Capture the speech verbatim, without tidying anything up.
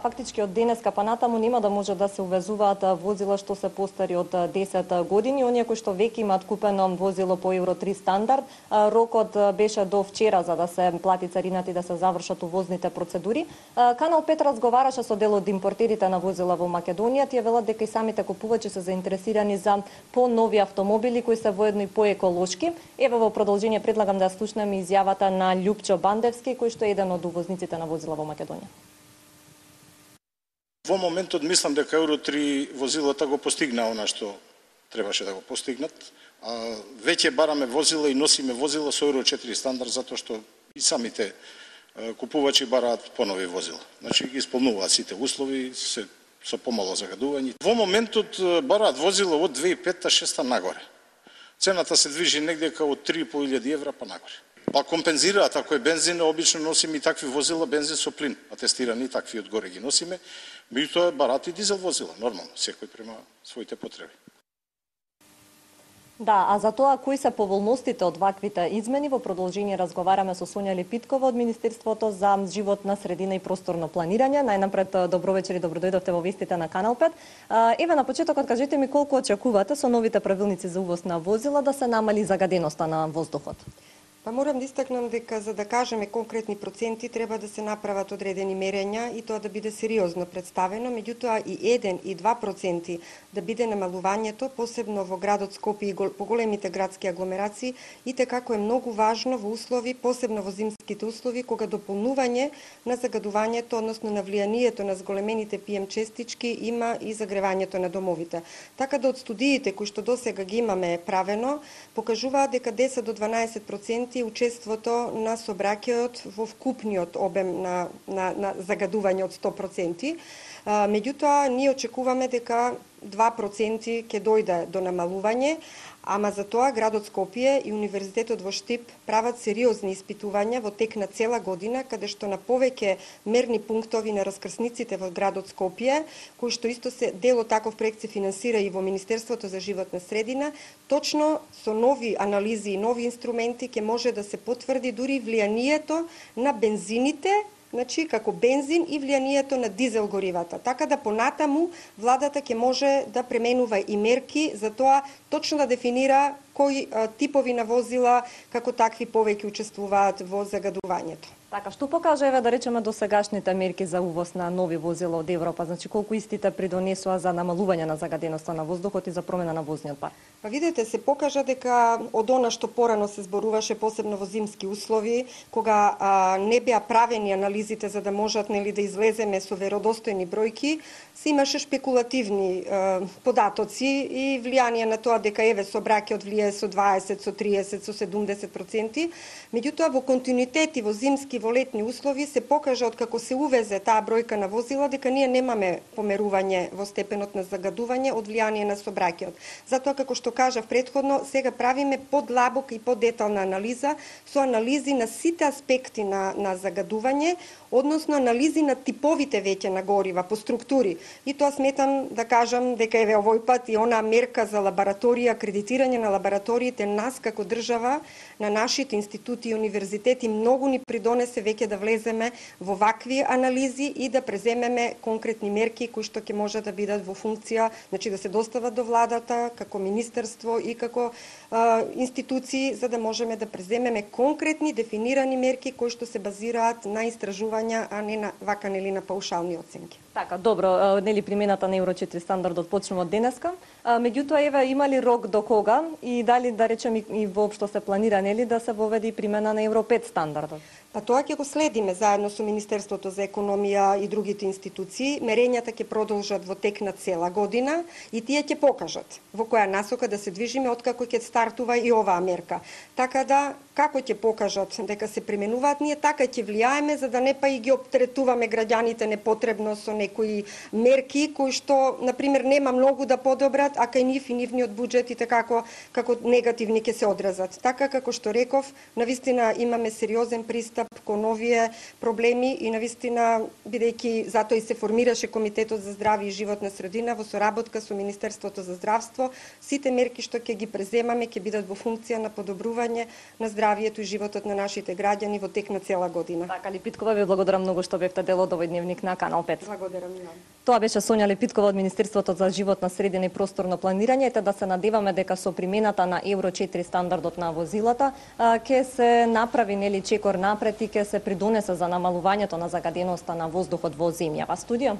фактички од денеска па натаму нема да може да се увезуваат возила што се постари од десет години. Оние кои што веќе имаат купено возило по Евро три стандард, рокот беше до вчера за да се плати царината и да се завршат увозните процедури. Канал пет разговараше со дел од импортерите на возила во Македонија. Тие велат дека и самите купувачи се заинтересирани за понови автомобили кои се воедно и поеколошки. Еве во продолжение предлагам да слушнеме изјавата на Љупчо Бандевски, кој што е еден од увозниците на возила во Македонија. Во моментот мислам дека Евро три возилата го постигна она што требаше да го постигнат. А веќе бараме возила и носиме возила со Евро четири стандард затоа што и самите купувачи бараат понови возила. Значи ги исполнуваат сите услови, се со помало загадување. Во моментот бараат возила од две илјади и петта шеста нагоре. Цената се движи негде од три и по илјади евра па нагоре. Па компензираат, ако е бензин, обично носиме и такви возила, бензин со плин, атестирани, такви одгоре ги носиме, меѓутоа бараат и дизел возила, нормално, секој према своите потреби. Да, а за тоа кои се поволностите од ваквите измени, во продолжение разговараме со Сонја Лепиткова од Министерството за животна средина и просторно планирање. Најнапред, добро вечер и добродојдовте во вестите на Канал пет. Еве на почетокот кажете ми колку очекувате со новите правилници за увоз на возила да се намали загаденоста на воздухот? Па морам да истакнам дека за да кажеме конкретни проценти треба да се направат одредени мерења и тоа да биде сериозно представено, меѓутоа и еден и два проценти да биде намалувањето, посебно во градот Скопје и по големите градски агломерации, и како е многу важно во услови, посебно во зимските услови, кога дополнување на загадувањето, односно на влијанието на зголемените пи ем честички има и загревањето на домовите. Така да од студиите кои што досега ги имаме правено, покажуваат дека десет до дванаесет проценти учеството на сообраќајот во вкупниот обем на, на, на загадување од сто проценти. Меѓутоа, ние очекуваме дека два проценти ќе дојде до намалување, ама за тоа градот Скопје и Универзитетот во Штип прават сериозни испитувања во тек на цела година, каде што на повеќе мерни пунктови на раскрсниците во градот Скопје, кои што исто се дел од таков проект се финансира и во Министерството за животна средина, точно со нови анализи и нови инструменти ќе може да се потврди дури влијанието на бензините, значи како бензин и влијанието на дизел горивата. Така да понатаму владата ќе може да пременува и мерки за тоа точно да дефинира кои а, типови на возила како такви повеќе учествуваат во загадувањето. Така, што покажа еве да речеме досегашните мерки за увоз на нови возила од Европа, значи колку истите придонесоа за намалување на загаденоста на воздухот и за промена на возниот парк? Па видете, се покажа дека од она што порано се зборуваше, посебно во зимски услови, кога а, не беа правени анализите за да можат нели да излеземе со веродостојни бројки, се имаше шпекулативни а, податоци и влијание на тоа дека еве сообраќајот влијае со дваесет, со триесет, со седумдесет проценти. Меѓутоа во континуитет и во зимски во летни услови се покажа од како се увезе таа бројка на возила дека ние немаме померување во степенот на загадување од влијание на сообраќајот. Затоа како што кажав претходно, сега правиме подлабок и подетална анализа со анализи на сите аспекти на на загадување, односно анализи на типовите веќе на горива по структури. И тоа сметам да кажам дека еве овој пат и она мерка за лабораторија, акредитирање на лабораториите, нас како држава, на нашите институти и универзитети многу ни придонесе веќе да влеземе во вакви анализи и да преземеме конкретни мерки кои што ќе може да бидат во функција, значи да се достават до владата како министерство и како а, институции, за да можеме да преземеме конкретни дефинирани мерки кои што се базираат на истражувања, а не на вака нели на паушални оценки. Така, добро, нели примената на Евро четири стандардот почнува од денеска. Меѓутоа, еве, има ли рок до кога и дали, да речем, и воопшто се планира, нели, да се воведе и примена на Евро пет стандардот? Па тоа ќе го следиме заедно со Министерството за економија и другите институции. Мерењата ќе продолжат во тек на цела година и тие ќе покажат во која насока да се движиме откако ќе стартува и оваа мерка. Така да, како ќе покажат дека се применуваат, ние така ќе влијаеме за да не па и ги оптеретуваме граѓаните непотребно со некои мерки кои што, на пример, нема многу да подобрат, а кај нив и нивниот буџет и како како негативни ќе се одразат. Така како што реков, навистина имаме сериозен пристап кон овие проблеми и навистина, бидејќи затоа и се формираше Комитетот за здравје и животна средина во соработка со Министерството за здравство, сите мерки што ќе ги преземаме ќе бидат во функција на подобрување на здравјето здравието и животот на нашите граѓани во тек на цела година. Така, Липиткова, ви благодарам многу што бевте дел од овој дневник на Канал пет. Благодарам и вам. Тоа беше Сонја Липиткова од Министерството за животна средина и просторно планирање, ете да се надеваме дека со примената на Евро четири стандардот на возилата ќе се направи нели чекор напред и ќе се придонесе за намалувањето на загаденоста на воздухот во земјава. Студио